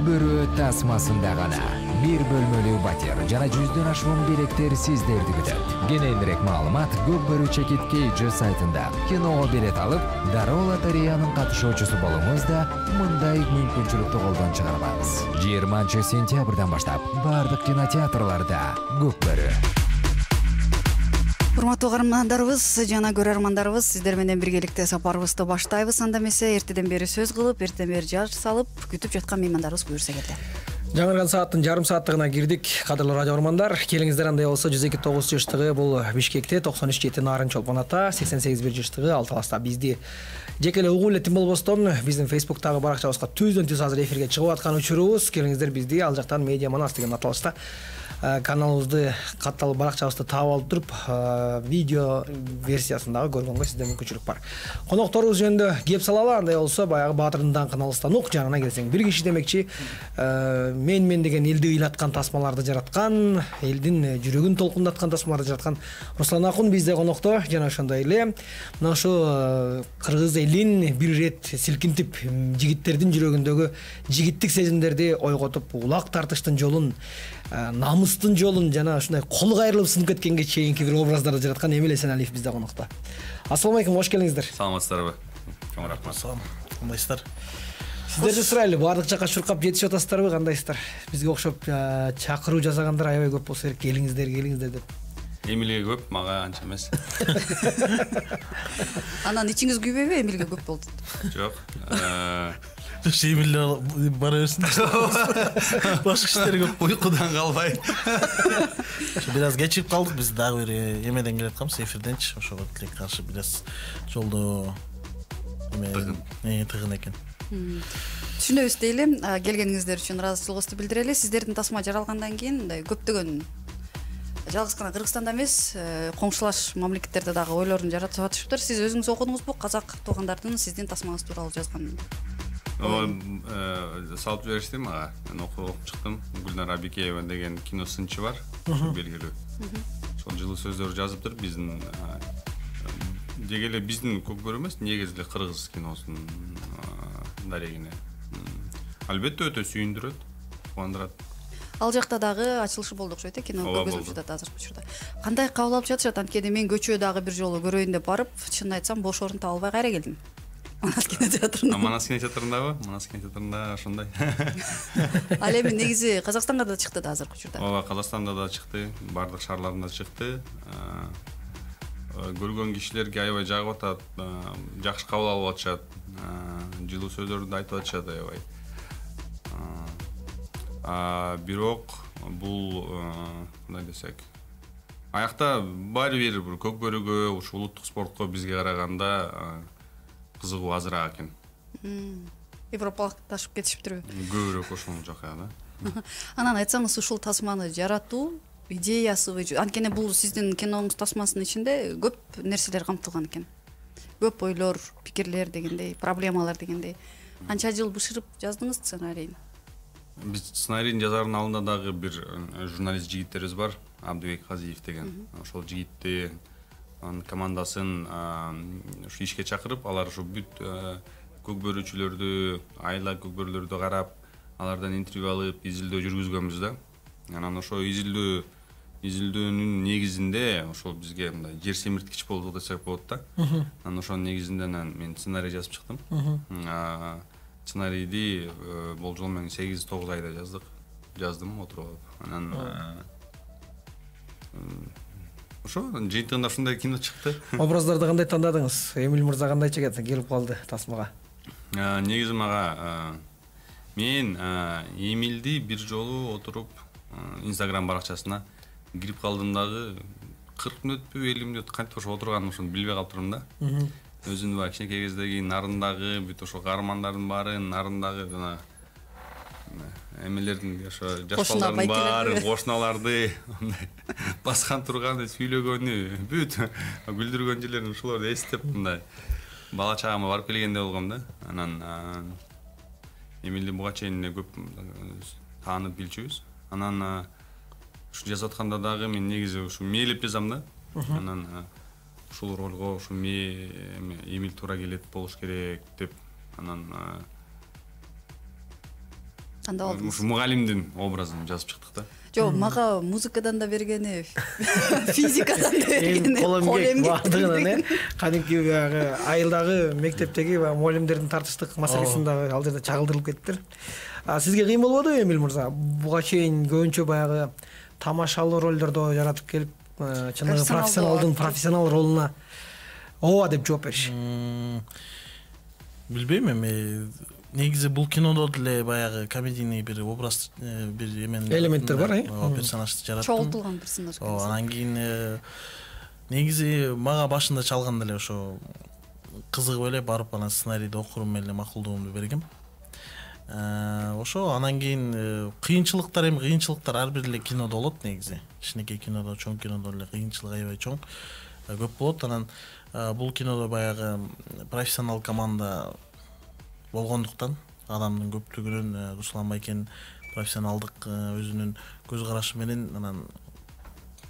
Бөрү тасмасында гана. Бир бөлмөлүү батир жана 100дөн ашуун билеттер сиздерди күтөт. Кененирээк маалымат Көкбөрү Чекит KG сайтында. Киного билет алып, дароо лотереянын катышуучусу болуңуз да мындай мүмкүнчүлүктү колдон чыгарбаңыз. 20-сентябрдан баштап бардык кинотеатрларда Көкбөрү. Урматтуу каармандарыбыз жана көрөрмандарыбыз, сиздер менен биргеликте сапарыбызды баштайбыз. Анда эмесе эртеден бери сөз кылып, эртеден бери жар салып күтүп жаткан меймандарыбыз буюрса келди. Жаңырган сааттын жарым сааттыгына кирдик. Кадырлуу радио көрөрмандар, келиңиздер. Андай болсо 102.9 жаштагы бул Бишкекте, 93.7 Нарын Чолпон ата, 88 жаштагы Алталаста бизди жеке эле угуу элетин болбостон биздин Facebooktагы баракчабызга түздөн-түз азыр эфирге чыгып аткан учурубуз. Келиңиздер бизди ал жактан Медиа Манас деген аталышта каналыбызды катталып баракчабызды таап алып туруп видео версиясындагы көргөнгө сизде мүмкүнчүлүк бар. Конокторубуз жөнүндө кеп салалы. Андай болсо баягы Баатырдын даңкын алыстанук жанына келсең, бир киши демекчи мен деген элди ыйлаткан тасмаларды жараткан, элдин жүрөгүн толкундаткан тасмаларды жараткан Руслан Акун бизде конокто. Жана ошондой эле мына ушу кыргыз элин бир ирет силкинтип, жигиттердин жүрөгүндөгү жигиттик сезимдерди ойготуп, улак тартыштын жолун, намыстын жолун жана ушундай кол кайрылып сынып кеткенге чейинки бир образдарды жараткан Эмил Эсеналиев бизде конокто. Ассалам алейкум, кош келиңиздер. Саламатсыздарбы? Чоң рахмат. Салам. Кандайсыздар? Сиздерди сурайлы, баардык жака чуркап жетишип атасыздарбы, кандайсыздар? Бизге окшоп чакыруу жасагандар аябай көп болсо керек, келиңиздер деп. Эмилге көп, мага анча эмес. Анан ичиңиз күйбөйбү, Эмилге көп болду? Жок. Эмилде бара берсин. Башка иштер көп, Уйкудан калбай. Бир аз кечип калдык, биз дагы бир эмеден келатканбыз, эфирденчи. Ошого тилек каршы бир аз жолдо тыгын экен. Түшүнөбүз дейли. Келгениңиздер үчүн ыраазычылыгыбызды билдирели. Сиздердин тасма жаралгандан кийин мындай көптөгөн жалгыз гана Кыргызстанда эмес, коңшулаш мамлекеттерде дагы ойлорун жаратып атышыптыр. Сиз өзүңүз окудуңузбу? Казак туугандардын сиздин тасмаңыз тууралуу жазган? Салып жиберишти мага. Мен окуп чыктым. Гүлнар Абикеева деген кино сынчы бар, белгилүү. Ошол жылы сөздөр жазыптыр. Биздин деги эле биздин Көкбөрү эмес, негизи эле кыргыз киносунун дарегине. Албетте өтө сүйүндүрөт, кубандырат. Ал жакта дагы ачылышы болду окшойт, кино көргөзүлүп жатат азыркы учурда. Кандай кабыл алып жатышат? Анткени мен көчө дагы бир жолу көрөйүн деп барып, чынын айтсам бош орун таба албай кайра келдим. Манас кинотеатрында. Манас кинотеатрындабы? Манас кинотеатрында ошондой. Ал эми негизи Казакстанга да чыкты да азыркы учурда. Ооба, Казакстанда да чыкты, бардык шаарларында чыкты. Көргөн кишилерге аябай жагып атат, жакшы кабыл алып атышат, жылуу сөздөрдү айтып атышат аябай. Бирок бул кандай десек, аякта баары бир Көкбөрүгө, ушу улуттук спортко бизге караганда кызыгуу азыраак экен. Европалыкташып кетишиптирби? Көбүрөөк ошол жака да. Анан айтсаңыз, ушул тасманы жаратуу идеясыбы? Анткени бул сиздин киноңуз тасмасынын ичинде көп нерселер камтылган экен. Көп ойлор, пикирлер дегендей, проблемалар дегендей. Канча жыл бышырып жаздыңыз сценарийин? Биз сценарийдин жазаардын алдында дагы бир журналист жигиттерибиз бар, Абдыбек Казиев деген. Ошол жигитти командасын ушу ишке чакырып, алар ушу бүт көкбөрүүчүлөрдү, айла көкбөрүлөрдү карап, алардан интервью алып, изилдөө жүргүзгөнбүз да. Анан ошо изилдөөнүн негизинде ошол бизге мындай жер семирткич болду десек болот да. Анан ошонун негизинде мен сценарий жазып чыктым. Сценарийди болжол менен 8-9 айда жаздым отуруп алып. Анан ошо жыйынтыгында ушундай кино чыкты. Образдарды кандай тандадыңыз? Эмил мырза кандайча келип калды тасмага? Негизи мага мен Эмилди бир жолу отуруп Instagram баракчасына кирип калдым дагы 40 мүнөтпү 50 мүнөт кантип ошо отурганын ошону билбей калыптырмын да. Өзүнүн баягы кичинекей кездеги нарындагы бүт ошо каармандардын баары нарындагы жана эмелердин ошо жаш балдардын баары кошуналарды баскан турганы, сүйлөгөнү, бүт күлдүргөн жерлерин ушуларды эстеп мындай бала чагыма барып келгендей болгом да. Анан Эмилди буга чейин көп таанып билчүбүз. Анан ушу жазып атканда дагы мен негизи ушу мээлеп жазам да. Анан ушул ролго ушу Эмил туура келет болуш керек деп анан Кандай болду? ушу мугалимдин образын жазып чыктык да. Жок, мага музыкадан да бергени, физикадан да бергени, кол эмгек баардыгынан кадимки баягы айылдагы мектептеги баягы мугалимдердин тартыштык маселесин дагы ал жерде чагылдырылып кеттир. Сизге кыйын болбодубу Эмиль мырза? Буга чейин көбүнчө баягы тамашалуу ролдордо жаратып келип, чыныгы профессионал ролуна ооба деп жооп бериш. Билбейм эми. Негизи бул кинодо деле баягы комедийный бир образ, бир элементтер бар, персонажды жараттым. Чогултулган персонаж. Анан кийин негизи мага башында чалганда эле ошо кызыгып эле барып анан сценарийди окурум эле макулдугумду бергем. Ошо анан кийин кыйынчылыктар ар бир эле кинодо болот негизи. Кичинекей кинодо, чоң кинодо эле кыйынчылык аябай чоң, көп болот. Анан бул кинодо баягы профессионал команда болгондуктан адамдын көптүгүнүн Руслан Байкенин профессионалдык өзүнүн көз карашы менен анан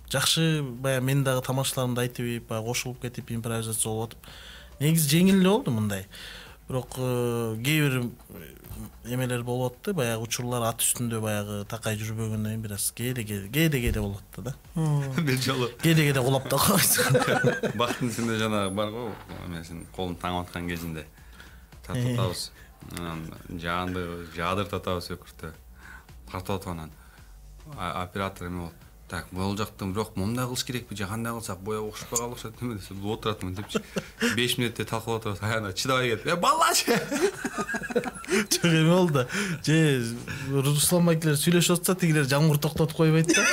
жакшы баягы мен дагы тамашаларымды айтып, баягы кошулуп кетип импровизация болуп атып, негизи жеңил эле болду мындай. Бирок кээ бир эмелер болуп атты, баягы учурлар ат үстүндө баягы такай жүрбөгөндөн кийин бир аз кээде болуп атты да. Бир жолу Кээде кулап да койсуң. Бактын сенде жана бар го, мен колун таңып аткан кезинде тартып атабыз. Анан жаанды жаадыртып атабыз өкүртө. Тартып атып анан оператор эме болуп, так, бул жактан бирок момундай кылыш керекпи, же кандай кылсак боя окшошпой калды окшойт эме десе, бул отуратмын депчи. 5 мүнөттө талкалап атабыз. Аяна чыдабай кетип, балачы. Чөк эме болду. Же Руслан Байкелер сүйлөшүп атса, тигилер жамгыр токтотуп койбойт да.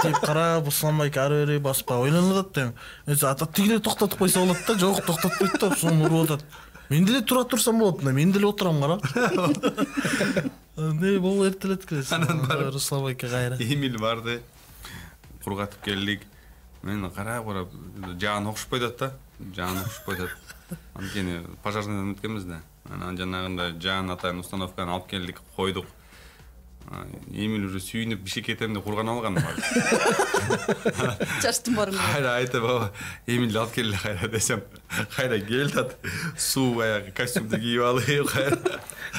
Тип карап, Руслан Байке ары бери басып ойлонуп атат. Тигилер токтотуп койсо болот да, жок токтотпойт да, сону уруп атат. Мен деле тура турсам болот, мен деле отурам кара. Не болу эртелет келес. Руслан Байке кайра. Эмил барды. Кургатып келдик. Мен карап, жаан окшошпой атат да. Жаан окшошпой атат. Анткени пожарныйдан өткөнбүз да. Анан жанагындай жаан атайын установканы алып келдик, койдук. Эмил уже сүйүнүп бишке кетем деп курган алган. Чачтым барым. Кайра айтып, Эмилди алып келе кайра десем, кайра келдат. Суу баягы костюмду кийип алып,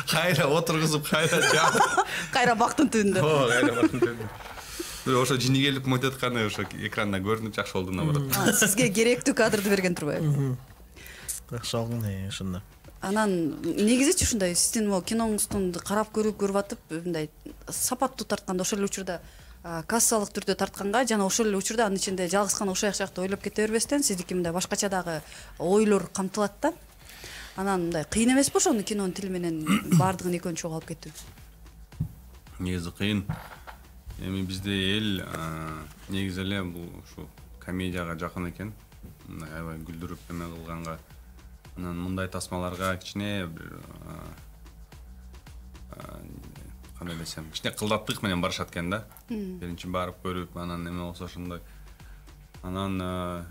кайра отургузуп, Кайра бактын түбүндө. Кайра бактын түбүндө. Ошо жини келип мойдатканы ошо экранда көрүнүп жакшы болду наоборот. Сизге керектүү кадрды берген турбайбы? Жакшы алгын, ошондо. Анан негизичи ушундай сиздин могу киноңузду карап көрүп атып, мындай сапаттуу тартканда ошол эле учурда кассалык түрдө тартканга жана ошол эле учурда анын ичинде жалгыз гана ушак жакты ойлоп кете бербестен сиздики мындай башкача дагы ойлор камтылат да. Анан мындай кыйын эмеспи ошону кинонун тили менен баардыгын экөөнү чогуу алып кетүү? Негизи кыйын. Эми бизде эл негизи эле бул ушу комедияга жакын экен. Мындай аябай күлдүрүп эме кылганга. Анан мындай тасмаларга кичине бир кандай десем, кичине кылдаттык менен барышат экен да. Биринчи барып көрүп, анан эме болсо ошондой. Анан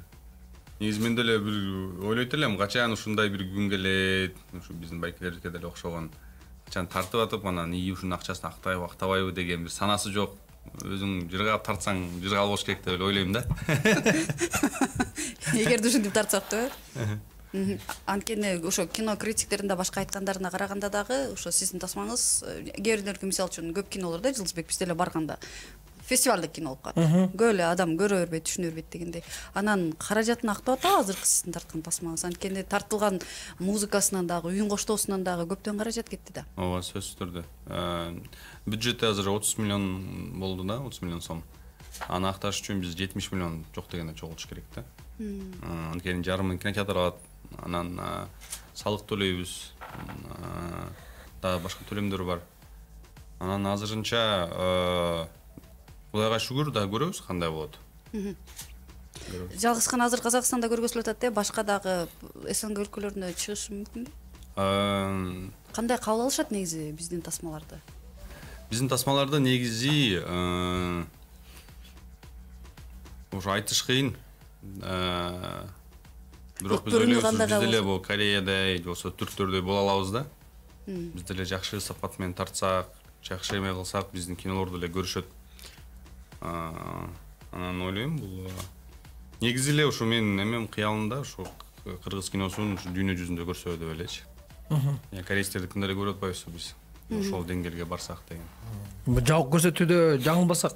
негизи мен деле бир ойлойт элем, качан ушундай бир күн келет, ушу биздин байкелерге деле окшогон. Качан тартып атып, анан ушунун акчасын актайбы, актабайбы деген бир санасы жок. Өзүң жыргап тартсаң, жыргал болуш керек деп ойлойм да. Эгерде ушинтип тартсак да. Анткени ошо кино критиктерин да башка айткандарына караганда дагы ошо сиздин тасмаңыз кээ бирлерге мисалы үчүн көп кинолор да Жылдызбек бизде эле барганда фестивалдык кино болуп калат. Көп эле адам көрө бербейт, түшүнө бербейт дегендей. Анан каражатын актап атабы азыркы сиздин тарткан тасмаңыз? Анткени тартылган музыкасынан дагы, үйүн коштоосунан дагы көптөн каражат кетти да. Ооба, сөзсүз түрдө. Бюджети азыр 30 миллион болду да, 30 миллион сом. Аны акташ үчүн биз 70 миллион жок дегенде чогултуш керек да. Анткени жарымын кинотеатр алат. Анан салык төлөйбүз. Дагы башка төлөмдөр бар. Анан азырынча Кудайга шүгүр да көрөбүз кандай болот. Жалгыз гана азыр Казакстанда көргөзүлүп атат да, башка дагы СНГ өлкөлөрүнө чыгышы мүмкүнбү? Кандай кабыл алышат негизи биздин тасмаларды? Биздин тасмаларды негизи ошо айтыш кыйын. Бирок биз ойлойбуз, биз деле бул Кореядай же болсо түрктөрдөй боло алабыз да. Биз деле жакшы сапат менен тартсак, жакшы эме кылсак, биздин кинолор деле көрүшөт. Анан ойлойм, бул негизи эле ушу менин эмем кыялымда ушу кыргыз киносун ушу дүйнө жүзүндө көрсө деп элечи. Корейцтердикин деле көрүп атпайбызбы биз? ошол деңгээлге барсак деген. Жабык көрсөтүүдө жаңылбасак,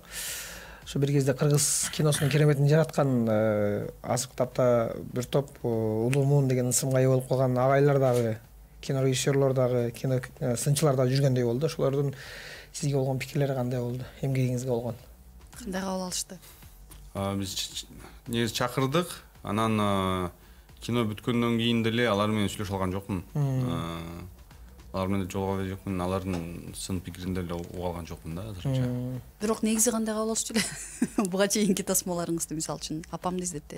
ошо бир кезде кыргыз киносунун кереметин жараткан азыркы тапта бир топ Улуу Муун деген ысымга ээ болуп калган агайлар дагы, кинорежиссерлор дагы, кино сынчылар дагы жүргөндөй болду. Ошолордун сизге болгон пикирлери кандай болду? Эмгегиңизге болгон? Кандай кабыл алышты? Биз негизи чакырдык, анан кино бүткөндөн кийин деле алар менен сүйлөшө алган жокмун. Алар менен жолуга эле жокмун, алардын сын пикирин деле уга алган жокмун да азырынча. Бирок негизи кандай кабыл алышчу эле? Буга чейинки тасмаларыңызды мисалы үчүн апамды издетти.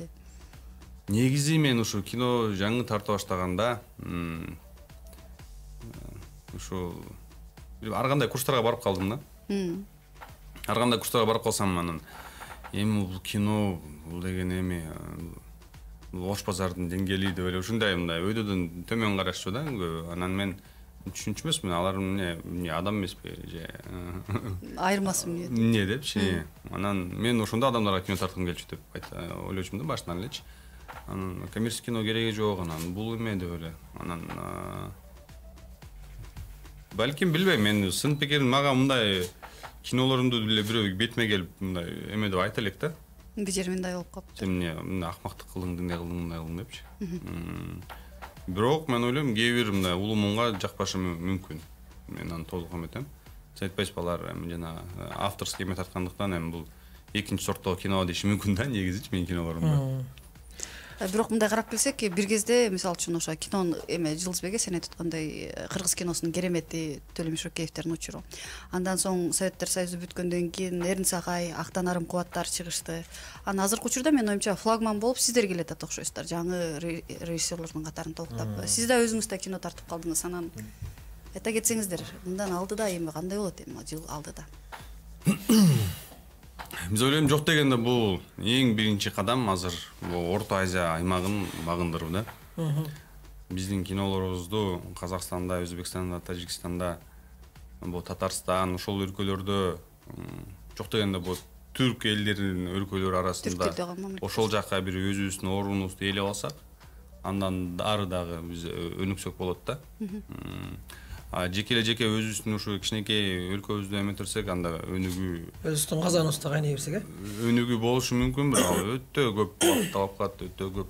Негизи мен ушу кино жаңы тарта баштаганда ушу ар кандай курстарга барып калдым да. Ар кандай курстарга барып калсам анан эми бул кино бул деген эми Ош базардын деңгээли деп эле ушундай мындай өйдөдөн төмөн карашчу да. Анан мен түшүнчү эмесмин, алар эмне адам эмеспи же Айырмасы эмне? Эмне депчи. Анан мен ошондо адамдарга кино тарткым келчү деп ойлочумун да башынан элечи. Анан коммерческий кино кереги жок, анан бул эме деп эле. Анан балким билбейм, мен сын пикирим мага мындай кинолорумду деле бирөө бетиме келип мындай эме деп айта элек да. Бир жери мындай болуп калыптыр. Сен эмне акмактык кылдың, мындай кылдың, мындай кылдың депчи. Бирок мен ойлойм, кээ бир мындай Улуу Муунга жакпашы мүмкүн. Мен аны толук эметем. Сен айтпайсызбы, алар жана авторский эме тарткандыктан эми бул экинчи сорттогу кино деши мүмкүн да, негизичи менин кинолорумда. Бирок мындай карап келсек, бир кезде мисалы үчүн ошо кинонун эме Жылдызбекке сен айтып аткандай кыргыз киносунун керемети Төлөм Шөкеевдердин учуру. Андан соң Советтер Союзу бүткөндөн кийин Эрин Сагай, Актан Арым Кубаттар чыгышты. Анан азыркы учурда менин оюмча флагман болуп сиздер келатат окшойсуздар, жаңы режиссерлордун катарын толуктап. Сиз да өзүңүз да кино тартып калдыңыз. Анан айта кетсеңиздер, мындан алдыда эми кандай болот эми жыл алдыда? Биз ойлойм, жок дегенде бул эң биринчи кадам азыр Орто Азия аймагын багындыруу да. Биздин кинолорубузду Казакстанда, Өзбекстанда, Тажикстанда, бул Татарстан, ошол өлкөлөрдө жок дегенде бул түрк элдеринин өлкөлөрү арасында ошол жакка бир өзүбүздүн орунубузду ээлеп алсак, андан ары дагы биз өнүксөк болот да. Жеке өзүбүздүн ушу кичинекей өлкөбүздү эметирсек, анда өнүгүү Өзүбүздүн казаныбызды кайнай берсек, өнүгүү болушу мүмкүн, бирок өтө көп убакыт алып калат, өтө көп.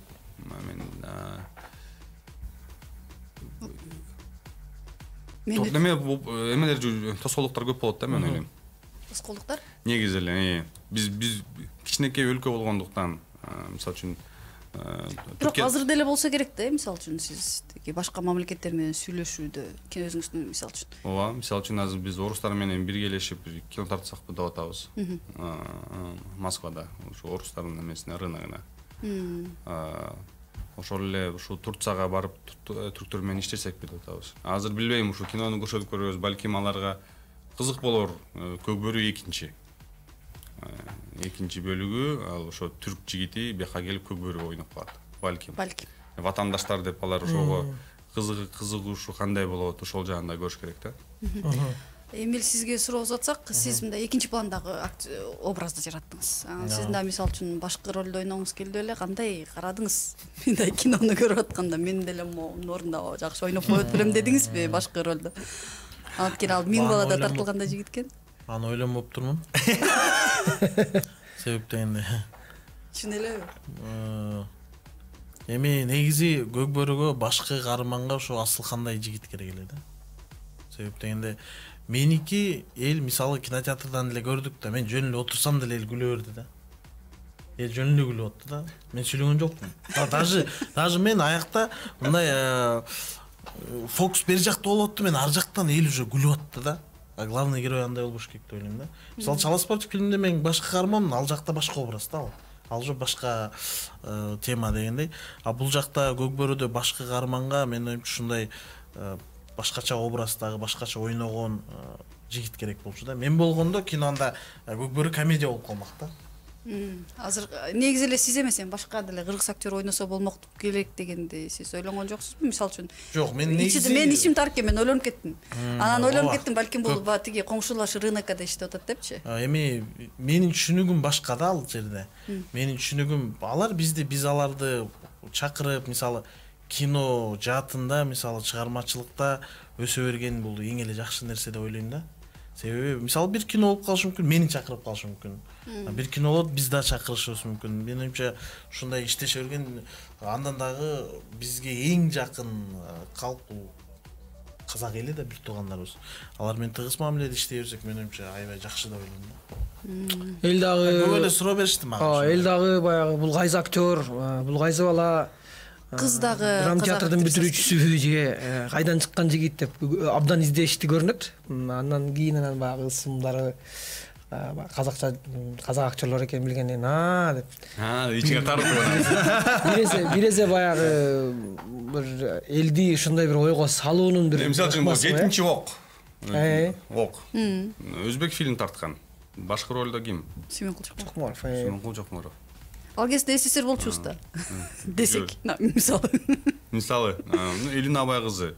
Мен эмелер тоскоолдуктар көп болот да, мен ойлойм. Тоскоолдуктар? Негизи эле биз кичинекей өлкө болгондуктан, мисалы үчүн Бирок азыр деле болсо керек да, мисалы үчүн сиз башка мамлекеттер менен сүйлөшүүдө, өзүңүздүн мисалы үчүн. Ооба, мисалы үчүн азыр биз орустар менен биргелешип кино тартсакпы деп атабыз. Москвада, ушу орустардын эмесине, рыногуна. Ошол эле ушу Турцияга барып түрктөр менен иштесекпи деп атабыз. Азыр билбейм, ушу кинону көрсөтүп көрөбүз, балким аларга кызык болор. Көкбөрү экинчи бөлүгү, ал ошо түрк жигити бияка келип Көкбөрү ойноп калат. Балким. Ватандаштар деп алар ошого кызыгушу кандай болот, ошол жагын да көрүш керек да. Эмил, сизге суроо узатсак, сиз мындай экинчи пландагы образды жараттыңыз. Сиздин да мисалы үчүн башкы ролдо ойногуңуз келди эле, кандай карадыңыз? Мындай кинону көрүп атканда мен деле мунун ордунда жакшы ойноп коет белем дедиңизби башкы ролдо? Анткени ал Миң балада тартылганда жигит экен. Аны ойлонуп турмун. Себеп дегенде. Чын элеби? Эми негизи Көкбөрүгө башкы каарманга ошо Асылкандай жигит керек эле да. Себеп дегенде меники эл мисалы кинотеатрдан эле көрдүк да, мен жөн эле отурсам деле эл күлө берди да. Эл жөн эле күлүп атты да. Мен сүйлөгөн жокмун. Даже мен аякта мындай фокус бери жакта болуп атты, мен ар жактан эл уже күлүп атты да. Главный герой андай болбош керек деп ойлойм да. Мисалы Чала спортчу фильмде мен башкы каарманмын, ал жакта башка образ да. Ал же башка тема дегендей. А бул жакта Көкбөрүдө башкы каарманга мен оюмча ушундай башкача образдагы, башкача ойногон жигит керек болчу да. Мен болгондо кинондо Көкбөрү комедия болуп калмак да. Азыр негизи эле сиз эмес, башка деле кыргыз актер ойносо болмок керек дегенди сиз ойлонгон жоксузбу, мисалы үчүн? Жок, мен негизи мен ичим тар экен, мен ойлонуп кеттим. Анан ойлонуп кеттим, балким бул тиги коңшулаш рыноккада иштеп атат депчи. Эми менин түшүнүгүм башка да ал жерде. Менин түшүнүгүм алар биз аларды чакырып, мисалы кино жаатында, мисалы чыгармачылыкта өсө берген бул эң эле жакшы нерсе деп ойлойм да. Себеби мисалы бир кино болуп калышы мүмкүн, мени чакырып калышы мүмкүн. Бир кино болот, биз да чакырышыбыз мүмкүн. Менин оюмча ушундай иштеше берген андан дагы бизге эң жакын калк бул казак эли да, бир туугандарыбыз. Алар менен тыгыз мамиледе иштей берсек, менин оюмча аябай жакшы деп ойлойм да. Эл дагы көп эле суроо беришти мага. Эл дагы баягы бул кайсы актер, бул кайсы бала, кыз дагы драма театрдын бүтүрүүчүсү же кайдан чыккан жигит деп абдан издешти көрүнөт. Андан кийин анан баягы ысымдары казакча казак актерлор экенин билгенден деп. Ичиңе тартып. Бирезе баягы бир элди ушундай бир ойго салуунун бир. Мисалы үчүн 7-чи ок. Ок. Өзбек фильм тарткан. Башкы ролдо ким? Сүймөн Кулчукмаров. Сүймөн Кулчукмаров. Ал кезде СССР болчубуз да. Десек, мисалы. Мисалы, Элина Абай кызы.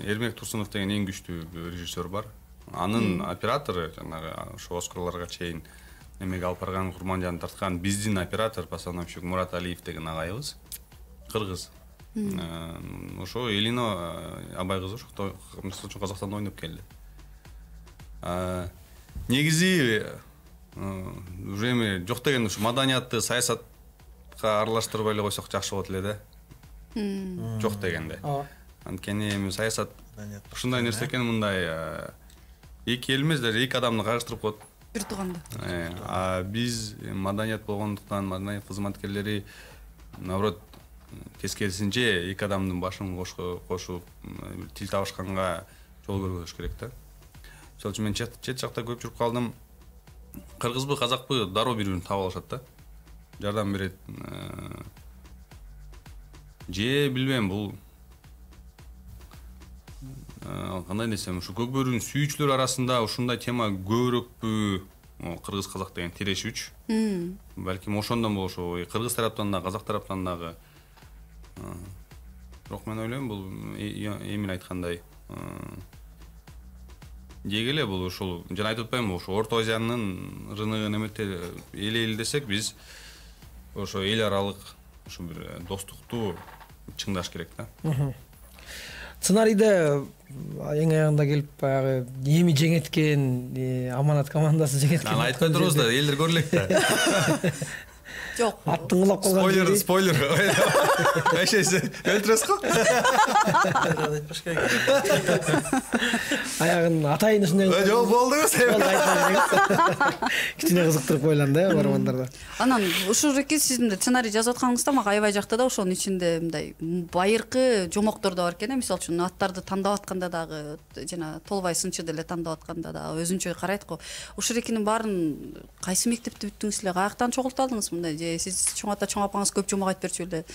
Эрмек Турсунов деген эң күчтүү режиссер бар. Анын оператору жанагы ошо Оскарларга чейин эмеге алып барган Курманжан тарткан биздин оператор постановщик Мурат Алиев деген агайыбыз. Кыргыз. Ошо Элина Абай кызы ошо мисалы үчүн Казакстанда ойноп келди. Негизи уже эми жок дегенде ушу маданиятты саясатка аралаштырбай эле койсок жакшы болот эле да. Жок дегенде. Анткени эми саясат ушундай нерсе экен, мындай эки эл эмес, даже эки адамды кайгыштырып коет. Бир тууганды. Биз маданият болгондуктан маданият кызматкерлери наоборот тескерисинче эки адамдын башын кошуп тил табышканга жол көргөзүш керек да. Мисалы үчүн мен чет жакта көп жүрүп калдым. Кыргызбы, казакпы дароо бири-бирин таап алышат да. Жардам берет. Же билбейм, бул кандай десем, ушу көк бөрүнүн сүйүүчүлөр арасында ушундай тема көбүрөөкпү? Кыргыз казак деген тирешүүч. Балким ошондон болушу, кыргыз тараптан да, казак тараптан дагы. Бирок мен ойлойм, бул Эмин айткандай деги эле бул ушул жана айтып атпаймынбы, ошо Орто Азиянын рыногун эмете эл десек, биз ошо эл аралык ушу бир достукту чыңдаш керек да. Сценарийде эң аягында келип баягы эми жеңеткен Аманат командасы жеңеткен. Аны айтпай турбуз да, элдер көрөлүк да. Жок. Аттың кулап калган. Спойлер. Эшесе өлтүрөсүз го? Аягын атайын ушундай. Жок, болдуңуз. Кичине кызыктырып ойланды бармандарда. Анан ушул эки сиздин сценарий жазып атканыңызда мага аябай жакты да, ошонун ичинде мындай байыркы жомоктор да бар экен. Мисалы үчүн аттарды тандап атканда дагы жана Толбай сынчы деле тандап атканда дагы өзүнчө карайт го. Ушул экинин баарын кайсы мектепте бүттүңүз эле? Каяктан чогулталдыңыз мындай? Сиз чоң ата чоң апаңыз көп жомок айтып берчү эле.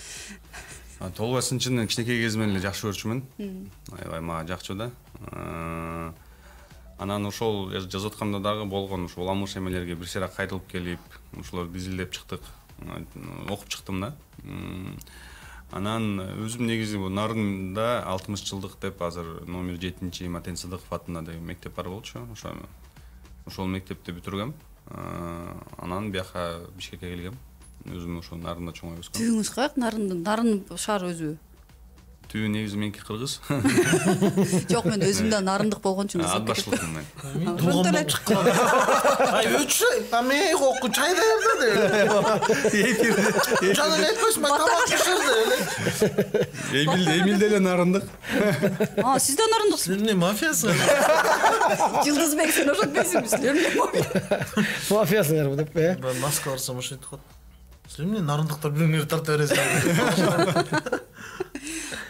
Толбай сынчыны кичинекей кезимден эле жакшы көрчүмүн. Аябай мага жакчу да. Анан ошол жазып атканда дагы болгон ушул уламыш эмелерге бир сыйра кайтылып келип, ушуларды изилдеп чыктык. Окуп чыктым да. Анан өзүм негизи бул Нарында 60 жылдык деп азыр номер 7-чи Матен Сыдыков атында деген мектеп бар болчу. Ошол мектепти бүтүргөм. Анан бияка Бишкекке келгем. Өзүм ошо Нарында чоңоюп өскөм. Түйүңүз каяк? Нарын шаар өзү. Түйү негизи меники кыргыз. Жок, мен өзүм да нарындык болгончу. Адбашлыкмын мен. Тууган болуп чыккан. Ай өчү, мен окку чай даярда деп. Чайдан этпес, мен тамак пиширди. Эмил деле нарындык. Сиз да нарындыксыз. Сиз эмне мафиясыз? Жылдызбек, сен ошентпейсиңби? Сиз эмне мафия? Мафиясыңарбы деп, Мен Москва барсам ошентип коет. Сиз эмне нарындыктар бириңерди тарта бересиңер?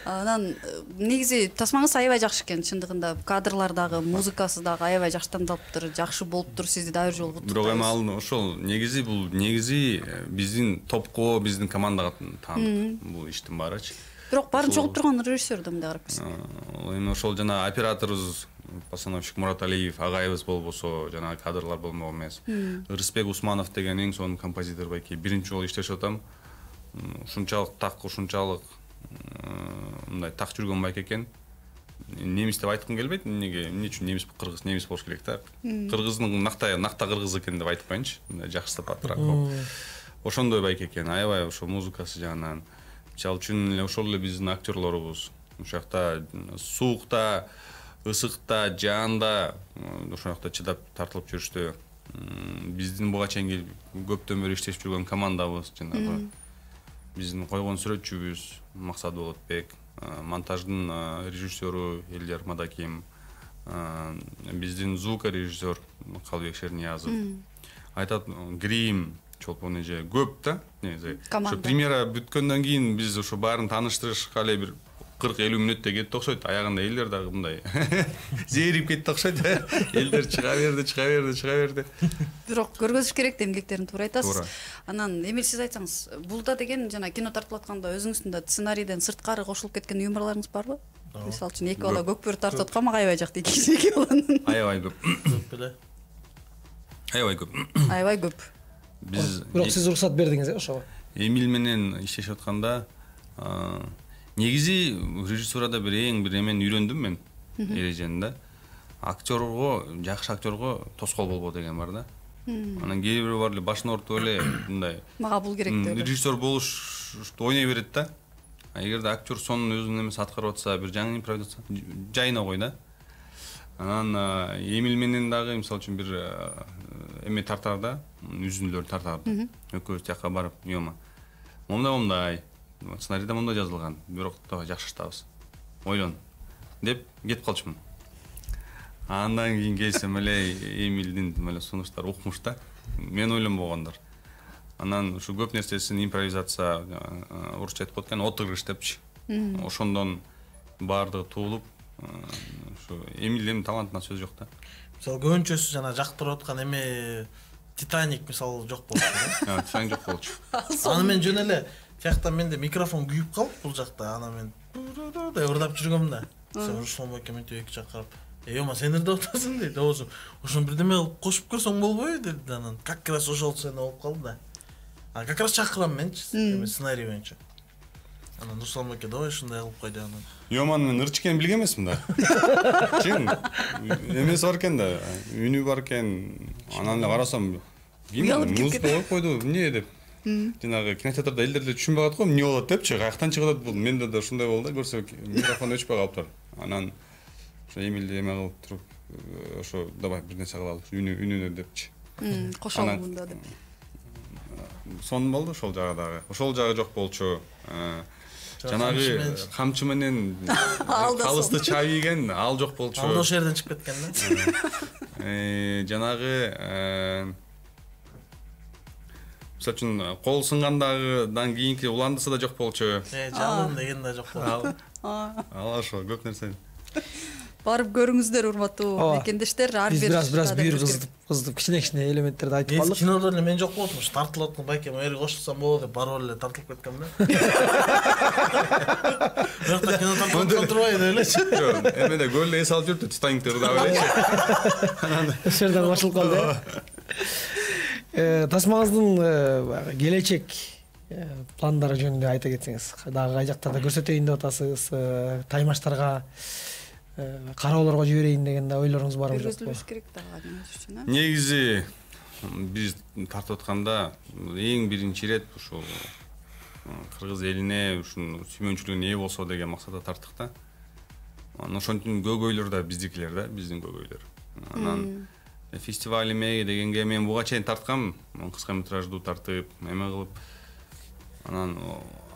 Анан негизи тасмаңыз аябай жакшы экен, чындыгында кадрлар дагы, музыкасы дагы аябай жакшы тандалыптыр, жакшы болуптур, сизди дагы бир жолу куттуктайбыз. Бирок эми ал ошол негизи биздин топко, биздин командага таандык бул иштин баарычы. Бирок баарын чогултуп турган режиссер да мындай карап келсек. Эми ошол жана операторубуз постановщик Мурат Алиев агайыбыз болбосо, жана кадрлар болмок эмес. Рыспек Усманов деген эң сонун композитор байке биринчи жолу иштешип атам. Ушунчалык мындай так жүргөн байке экен. Немис деп айткым келбейт. Эмне үчүн немис, кыргыз, немис болуш керек да. Кыргыздын накта кыргыз экен деп айтпайынчы. Мындай жакшытап атырак. Ошондой байке экен. Аябай ошо музыкасы жагынан. Мисалы үчүн ошол эле биздин актерлорубуз. ошол жакта суукта, ысыкта, жаанда ошол жакта чыдап тартылып жүрүштү. Биздин буга чейинки көптөн бери иштешип жүргөн командабыз, жанагы биздин койгон сүрөтчүбүз Максат Болотбек, монтаждын режиссеру Элдер Мадаким, биздин звукорежиссер Калбек Шерниязов. Айтат, грим, чолпон эже көп да. Ошо премьера бүткөндөн кийин биз ошо баарын тааныштырышка эле бир 40-50 мүнөттө кетти окшойт. Аягында элдер дагы мындай зээрип кетти окшойт. Элдер чыга берди. Бирок көргөзүш керек да эмгектерин, туура айтасыз. Анан Эмил, сиз айтсаңыз, бул да деген жана кино тартылып атканда өзүңүздүн да сценарийден сырткары кошулуп кеткен юморлоруңуз барбы? Мисалы үчүн эки бала көк бөрү тартып аткан, мага аябай жакты эки баланын. Аябай көп. Көп беле. Аябай көп. Бирок сиз уруксат бердиңиз ошого. Эмил менен иштешип атканда негизи режиссурада эң бир эмени үйрөндүм мен эрежени да. Актерго, жакшы актерго тоскоол болбо деген бар да. Анан кээ бирөө бар эле башын ортуп эле мындай Мага бул керек деп. Режиссер болушту ойной берет да. Эгерде актер сонун өзүнүн эмесин аткарып атса, бир жаңы импровизация жайына кой да. Анан Эмил менен дагы мисалы үчүн бир эме тартарда, үзүндүлөр тартарды. Экөөбүз тияка барып, "Йома, момундай, сценарийде момундай жазылган, бирок давай жакшыртабыз. Ойлон" деп кетип калчумун. Андан кийин келсем эле Эмилдин эле сунуштары укмуш да. Мен ойлонбогондор. Анан ушу көп нерсесин импровизация, орусча айтып коет экен, отыгрыш депчи. Ошондон баардыгы туулуп, ушу Эмилдин талантына сөз жок да. Мисалы көбүнчөсү жана жактырып аткан эме Титаник мисалы жок болчу да. Титаник жок болчу. Аны мен жөн эле тиякта менде микрофон күйүп калып бул жакта, ана мен деп ырдап жүргөм да. Руслан эке мынтип эки жакка карап, "Йома, сен ырдап атасың" дейт. Оозу ошону бирдеме кылып кошуп көрсөң болбойбу деди. Анан как раз ошол сцена болуп калды да. А как раз чакырам менчи, сценарий боюнча. Анан Руслан эке давай ушундай кылып кой деп анан. Йоман, мен ырчы экенин билген эмесмин да. Чын. Эмеси бар экен да, үнү бар экен. Анан эле карасам, музыка коюп койду, эмне деп. Жанагы кинотеатрда элдер эле түшүнбөй калат го, эмне болот депчи, каяктан чыгып атат бул. Менде да ушундай болду да, көрсө микрофон өчпөй калыптыр. Анан ошо Эмилди эме кылып туруп, ошо давай бир нерсе кылалы, үнүнө депчи. Кошолу мында деп. Сонун болду ошол жагы дагы. Ошол жагы жок болчу. Жанагы камчы менен калысты чабийген, ал жок болчу. Ал ошол жерден чыгып кеткен да. Жанагы мисалы үчүн кол сынгандагыдан кийинки уландысы да жок болчу. Жалын деген да жок болчу. Ал ошо көп нерсе. Барып көрүңүздөр, урматтуу мекендештер. Ар бир бираз бүйүр кыздып кичине элементттерди айтып калдык. Кинодо эле мен жок болдум, тартылып аткан байкем эр кошулсам болот деп барып эле тартылып кеткем да. Бирок кино тартылып турбай деп элечи. Жок, эмеде көлдө эс алып жүрдү, Титаникти ырдап элечи. Ошол жерден башылып калды. Тасмаңыздын келечек пландары жөнүндө айта кетсеңиз, дагы кай жактарда көрсөтөйүн деп атасыз, таймаштарга, кароолорго жиберейин деген да ойлоруңуз барбы жокпу? Көргөзүлүш керек дагы үчүн. Негизи биз тартып атканда эң биринчи ирет ушул кыргыз элине ушун сүймөнчүлүгүнө ээ болсо деген максатта тарттык да. Анан ошонтип көйгөйлөр да биздикилер да, биздин көйгөйлөр. Анан фестиваль эме дегенге мен буга чейин тарткам, кыска метраждуу тартып, эме кылып. Анан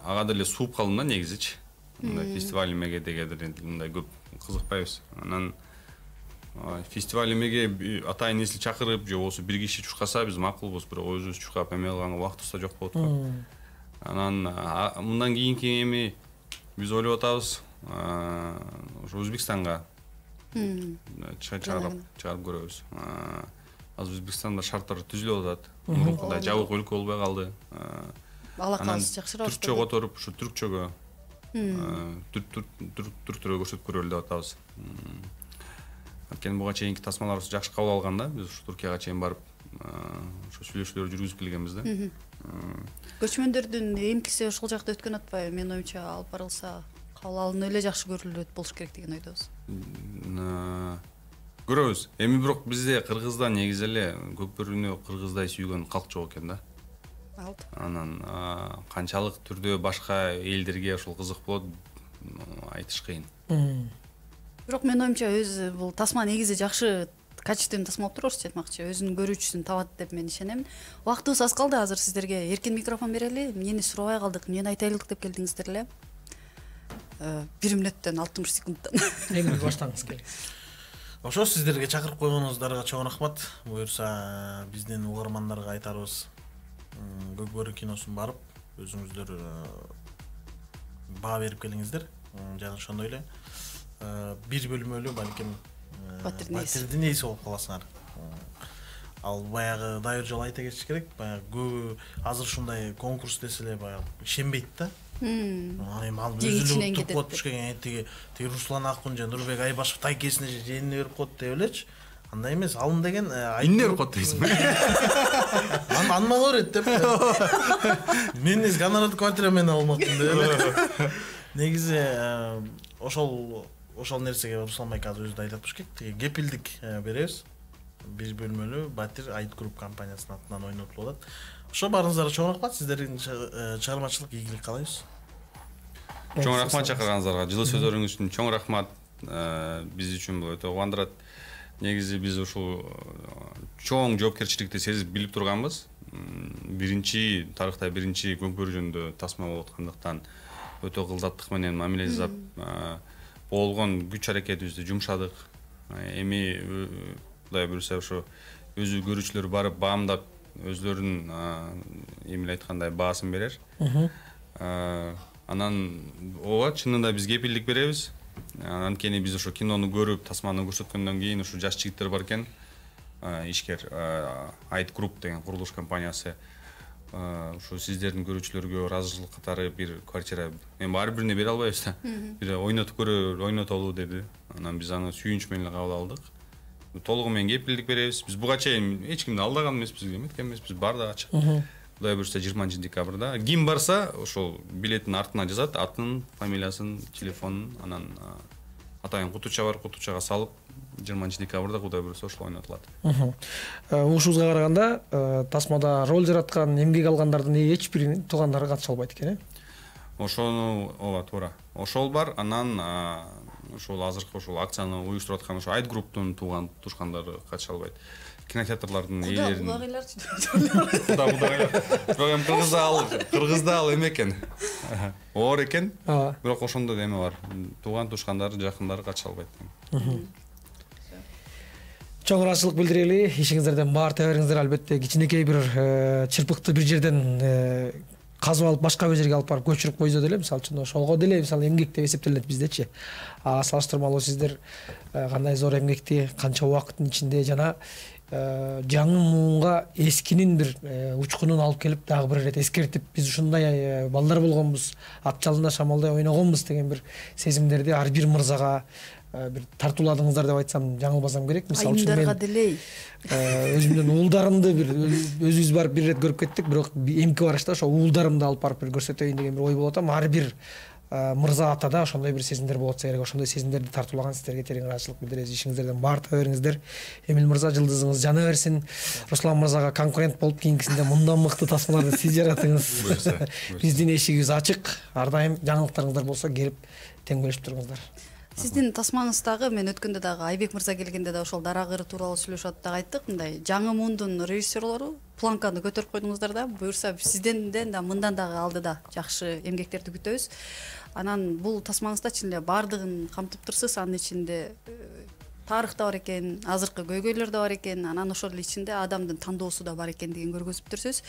ага деле сууп калдым да негизичи. Мындай фестиваль эмеге деген мындай көп кызыкпайбыз. Анан фестиваль эмеге атайын эсли чакырып, же болбосо бир киши чуркаса биз макулбуз, бирок өзүбүз чуркап эме кылганга убактыбыз да жок болот го. Анан мындан кийинки эми биз ойлоп атабыз, ошо Өзбекстанга чыгарып көрөбүз. Азыр Өзбекстанда шарттар түзүлүп атат. Мурункудай жабык өлкө болбой калды. Алакабыз жакшыраак. Түркчө которуп, ушу түркчөгө түрктөргө көрсөтүп көрөлү деп атабыз. Анткени буга чейинки тасмаларыбыз жакшы кабыл алган да. Биз ушу Туркияга чейин барып, ошо сүйлөшүүлөр жүргүзүп келгенбиз да. Көчмөндөрдүн эмкиси ошол жакта өткөн атпайбы? Менин оюмча алып барылса, кабыл алынып эле жакшы көрүлөт болуш керек деген ойдобуз. Көрөбүз. Эми бирок бизде Кыргызда негизи эле көк бөрүнү кыргыздай сүйгөн калк жок экен да. Алт. Анан канчалык түрдө башка элдерге ошол кызык болот айтыш кыйын. Бирок менин оюмча өзү бул тасма негизи жакшы качественный тасма болуп туруп орусча айтмакчы, өзүнүн көрүүчүсүн табат деп мен ишенем. Убактыбыз аз калды, азыр сиздерге эркин микрофон берели. Эмнени сурабай калдык, эмнени айта элек деп келдиңиздер эле. 1 мүнөттөн 60 секундтан. Эми баштаңыз келиңиз. Ошо сиздерге чакырып койгонуңуздарга чоң рахмат. Буюрса биздин угармандарга айтарыбыз, Көк бөрү киносун барып, өзүңүздөр баа берип келиңиздер. Жана ошондой эле 1 бөлмөлүү балким батирдин ээси болуп каласыңар. Ал баягы дайыр жолу айта кетиш керек. Баягы көбү азыр ушундай конкурс десе эле баягы ишенбейт да. Эми ал өзүлүк туруп коюп түшкөн тиги Руслан Акун жана Нурбек Айбашев тайкесине же жээнине берип коет деп элечи. Андай эмес. Алым деген эмне берип коет дейсиңби? Анмага берет деп. Мен гонорарды квартира менен алмакмын деп эле. Негизи ошол нерсеге Руслан байке азыр өзү да айтып кетти. Тиги кепилдик беребиз. 1 бөлмөлүү батир Айт групп компаниясынын атынан ойнотулуп атат. Ошо баарыңыздарга чоң рахмат. Сиздердин чыгармачылык ийгилик каалайбыз. Чоң рахмат чакырганыңыздарга. Жылы сөздөрүңүз үчүн чоң рахмат. Биз үчүн бул өтө кубандырат. Негизи биз ушул чоң жоопкерчиликти сезип билип турганбыз. Биринчи тарыхта биринчи көк бөрү жөнүндө тасма болуп аткандыктан өтө кылдаттык менен мамиле жасап болгон күч аракетибизди жумшадык. Эми Кудай буюрса ошо өзү көрүүчүлөр барып баамдап өзлөрүнүн эмне айткандай баасын берер. Анан ооба чынында биз кепилдик беребиз. Анткени биз ошо кинону көрүп, тасманы көрсөткөндөн кийин ушу жаш жигиттер бар экен. Ишкер Айт групп деген курулуш компаниясы ушу сиздердин көрүүчүлөргө ыраазычылык катары бир квартира эми ар бирине бере албайбыз да. Бир ойнотуп көрө, ойнотолу деди. Анан биз аны сүйүнүч менен кабыл алдык. Толугу менен кепилдик беребиз. Биз буга чейин эч кимди алдаган эмеспиз, эметкен эмеспиз, баардыгы ачык. Кудай буюрса 20 декабрда ким барса ошол билеттин артына жазат, атын, фамилиясын, телефонун, анан атайын кутуча бар, кутучага салып 20 декабрда Кудай буюрса ошол ойнотулат. Угушубузга караганда тасмада роль жараткан, эмгек алгандардын эч биринин туугандары катыша албайт экен, Ошону ооба туура. Ошол бар, анан ошол азыркы ошол акцияны уюштуруп аткан ошо Айт групптун тууган тушкандары катыша албайт. Кинотеатрлардын ээлерин. Кудагайлар. Бирок эми Кыргызда ал эме экен. Оор экен. Бирок ошондо да эме бар. Тууган тушкандары, жакындары катыша албайт. Чоң ыраазычылык билдирели. Ишиңиздерден баар тебериңиздер, албетте кичинекей бир чырпыкты бир жерден казып алып башка бир жерге алып барып көчүрүп койсо деле, мисалы үчүн ошого деле мисалы эмгек деп эсептелет биздечи. Салыштырмалуу сиздер кандай зор эмгекти канча убакыттын ичинде жана жаңы муунга эскинин бир учкунун алып келип дагы бир ирет эскертип, биз ушундай балдар болгонбуз, ат жалында шамалдай ойногонбуз деген бир сезимдерди ар бир мырзага бир тартууладыңыздар деп айтсам жаңылбасам керек. Мисалы үчүн мен өзүмдүн уулдарымды бир өзүбүз барып бир ирет көрүп кеттик, бирок эмки барышта ошо уулдарымды алып барып бир көрсөтөйүн деген бир ой болуп атам. Ар бир мырза атада ошондой бир сезимдер болуп атса керек. Ошондой сезимдерди тартуулаган сиздерге терең ыраазычылык билдиребиз. Ишиңиздерден баар таба бериңиздер. Эмил мырза, жылдызыңыз жана берсин. Руслан мырзага конкурент болуп кийинкисинде мындан мыкты тасмаларды сиз жаратыңыз. Биздин эшигибиз ачык. Ар дайым жаңылыктарыңыздар болсо келип тең бөлүшүп туруңуздар. Сиздин тасмаңыздагы мен өткөндө дагы Айбек мырза келгенде да ошол дара кыры тууралуу сүйлөшүп атып дагы айттык. Мындай жаңы муундун режиссерлору планканы көтөрүп койдуңуздар да. Буюрса сизден да мындан дагы алдыда жакшы эмгектерди күтөбүз. Анан бул тасмаңызда чын эле баардыгын камтып турсуз. Анын ичинде тарых да бар экен, азыркы көйгөйлөр да бар экен, анан ошол ичинде адамдын тандоосу да бар экендигин көргөзүп турсуз.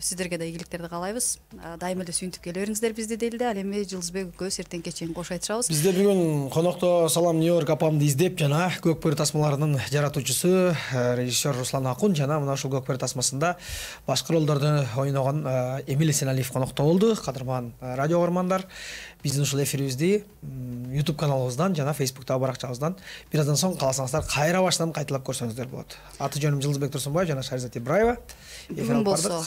Сиздерге да ийгиликтерди каалайбыз. Дайыма эле сүйүнтүп келе бериңиздер бизди дейли. Ал эми Жылдызбек экөөбүз эртеңке чейин кош айтышабыз. Бизде бүгүн конокто Салам Нью-Йорк апамды издеп жана Көк бөрү тасмаларынын жаратуучусу режиссер Руслан Акун жана мына ушул Көк бөрү тасмасында башкы ролдорду ойногон Эмил Эсеналиев конокто болду. Кадырман радио угармандар, биздин ушул эфирибизди YouTube каналыбыздан жана Facebook'тагы баракчабыздан бир аздан соң кааласаңыздар кайра башынан кайталап көрсөңүздөр болот. Аты жөнүм Жылдызбек Турсунбаев жана Шаризат Ибраева. Бүгүн болсо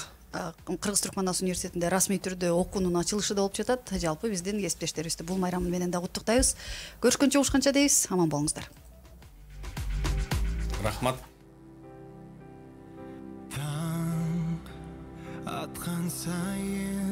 Кыргыз Түркман университетинде расмий түрдө окуунун ачылышы да болуп жатат. Жалпы биздин кесиптештерибизди бул майрам менен да куттуктайбыз. Көрүшкөнчө угушканча дейбиз. Аман болуңуздар. Рахмат. Таң аткан сайын